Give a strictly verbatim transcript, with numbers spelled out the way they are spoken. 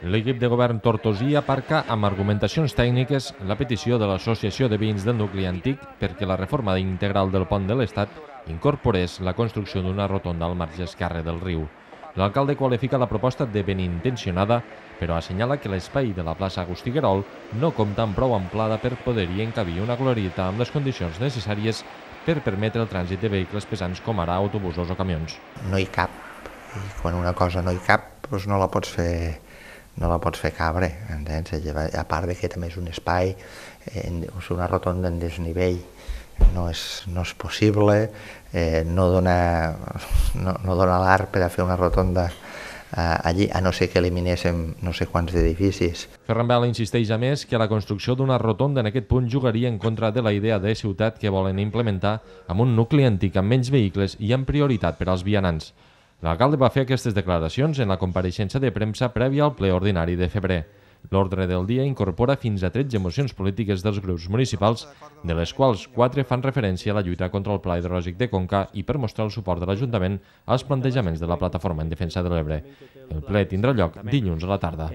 L'equip de govern tortosí aparca amb argumentacions tècniques la petició de l'Associació de Veïns del Nucli Antic perquè la reforma integral del pont de l'Estat incorporés la construcció d'una rotonda al marge esquerre del riu. L'alcalde qualifica la proposta de benintencionada, però assenyala que l'espai de la plaça Agustí Guerol no compta amb prou amplada per poder-hi encabir una glorieta amb les condicions necessàries per permetre el trànsit de vehicles pesants com ara autobusos o camions. No hi cap, i quan una cosa no hi cap, doncs no la pots fer no la pots fer cabre, entens? A part de que també és un espai, una rotonda en desnivell no és, no és possible, eh, no dona, no, no dona l'art per a fer una rotonda eh, allí, a no ser que eliminéssim no sé quants edificis. Ferran Bel insisteix a més que la construcció d'una rotonda en aquest punt jugaria en contra de la idea de ciutat que volen implementar amb un nucli antic amb menys vehicles i amb prioritat per als vianants. L'alcalde va fer aquestes declaracions en la compareixença de premsa prèvia al ple ordinari de febrer. L'ordre del dia incorpora fins a tretze mocions polítiques dels grups municipals, de les quals quatre fan referència a la lluita contra el Pla Hidrològic de Conca i per mostrar el suport de l'Ajuntament als plantejaments de la Plataforma en Defensa de l'Ebre. El ple tindrà lloc dilluns a la tarda.